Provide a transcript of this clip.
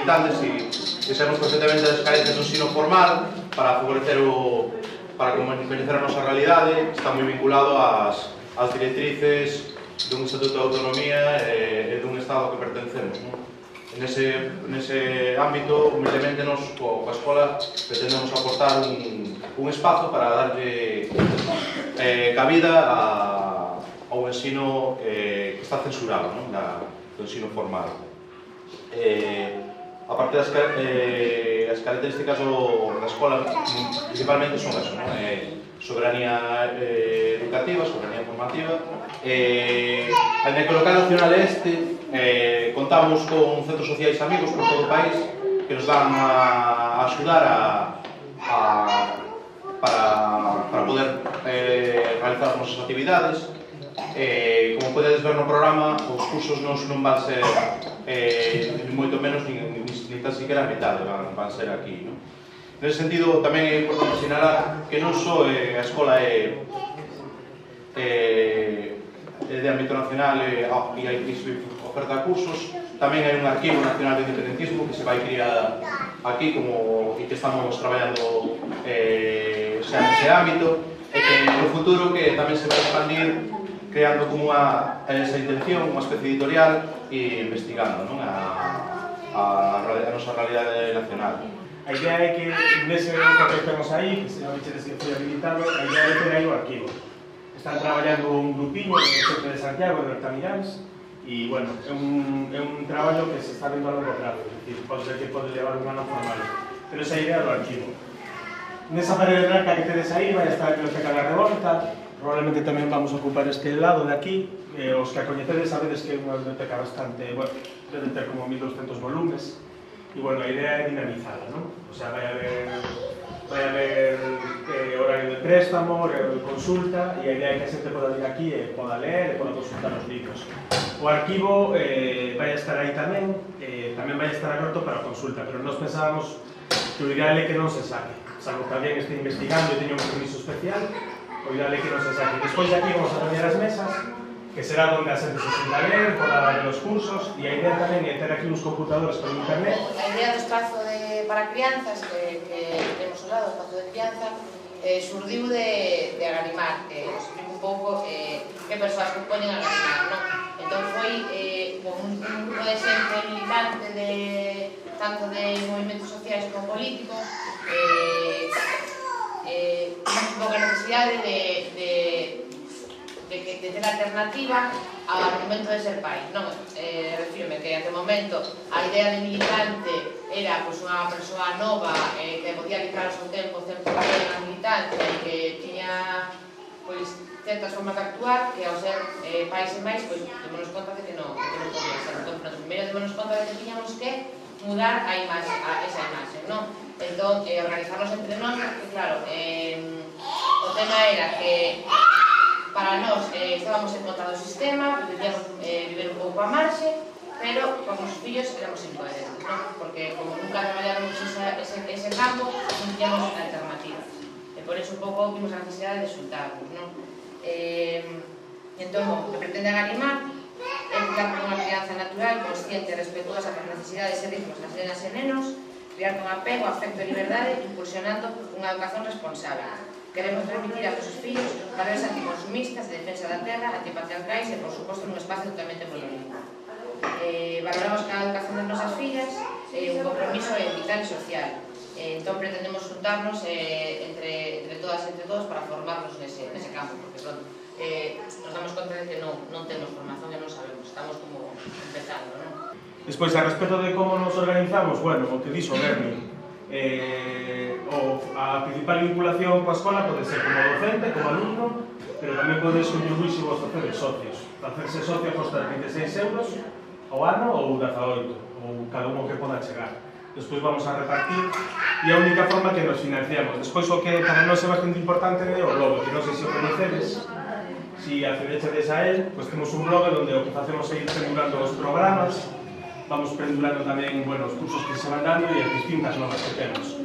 militantes e sabemos perfectamente as carencias do ensino formal para favorecer para conocer a nosa realidade. Está moi vinculado ás directrices dun Estatuto de Autonomía e dun Estado que pertencemos. Nese ámbito, humildemente, nos, coa escola, pretendemos aportar un espazo para darlle cabida ao ensino que está censurado, do ensino formal. A parte das características da escola, principalmente son eso, soberanía educativa, soberanía formativa. En el local nacional contamos con centros sociais amigos por todo o país que nos van a axudar para poder realizar as nosas actividades. Como podedes ver no programa, os cursos non van ser moito menos ni tan siquiera a metade van ser aquí. Nese sentido, tamén é importante sinalar que non só a escola é de ámbito nacional e oferta cursos, tamén hai un arquivo nacional de independentismo que se vai criar aquí e que estamos traballando xa nese ámbito, e que no futuro que tamén se vai expandir creando como esa intención, unha especie editorial e investigando a nosa realidade nacional. A idea é que nese papel que temos aí, que se non vechedes que foi habilitado, a idea é ter aí o arquivo. Están traballando un grupiño do centro de Santiago, de Bertamiráns, e, bueno, é un traballo que se está vendo a longo prazo, é dicir, pode ser que pode levar un ano formal, pero esa idea do arquivo. Nesa parede branca que tedes aí vai estar a Biblioteca da Revolta, probablemente tamén vamos a ocupar este lado de aquí, os que a coñecedes sabedes que é unha biblioteca bastante, bueno, debe ter como 1200 volumes, e, bueno, a idea é dinamizada, non? O sea, vai haber horario de préstamo, horario de consulta, e a idea é que a xente poda vir aquí e poda ler e poda consultar os libros. O arquivo vai estar aí tamén, tamén vai estar aberto para consulta, pero nós pensábamos que o ideal é que non se saque, salvo que alguén este investigando e teña un permiso especial, o ideal é que non se saque. Despois de aquí vamos a cambiar as mesas, que será onde a xente se sienta a ler, poda ver os cursos, e a idea tamén é ter aquí uns computadores por internet. A idea do espazo para crianzas que temos ao lado, o espazo de crianza, surdiu de Agarimar, que nos explico un pouco que persoas que poñen a Agarimar, non? Entón foi un grupo de xente militante tanto de movimentos sociais como políticos, un pouco a necesidade de ter alternativa ao argumento de ser pai, non? Refírome que até o momento a idea de militante era unha persoa nova que podía dedicar o seu tempo a militancia e que tiña certas formas de actuar que ao ser pais e máis démonos conta de que non podía ser. Entón, primeiro démonos conta de que tiñamos que mudar esa imaxe, non? Entón, organizarnos entre nós, porque claro, o tema era que para nós estábamos en contra do sistema, pretendíamos viver un pouco a marxe, pero con os fillos éramos incoherentes, non? Porque como nunca traballamos ese campo, non tiñamos alternativas. E por iso un pouco vimos a necesidade de xuntarnos, non? Entón, o que pretende Agarimar é criar unha crianza natural, consciente e respetuosa das necesidades e ritmos das nenas e nenos, criar con apego, afecto e liberdade, impulsionando unha educación responsable. Queremos transmitir a nosos fillos valores anticonsumistas, de defensa da terra, antipatriarcais e, por suposto, nun espacio totalmente político. Valoramos que a educación das nosas fillas é un compromiso vital e social. Entón, pretendemos juntarnos entre todas e entre todos para formarnos nese campo, porque nos damos conta de que non temos formación e non sabemos, estamos como empezando, non? Despois, a respecto de como nos organizamos, bueno, o que dixo Berni, a principal vinculación coa escola pode ser como docente, como alumno, pero tamén podes contribuir se vos facedes socios. Facerse socio costa 26 euros ao ano ou 18, ou cada un que poda chegar. Despois vamos a repartir e a única forma que nos financiamos. Despois o que para nós é bastante importante é o blog, que non sei se o coñecedes, se accedechedes a él, pois temos un blog onde o que facemos é ir pendurando os programas, vamos pendurando tamén os cursos que se van dando e as distintas novas que temos.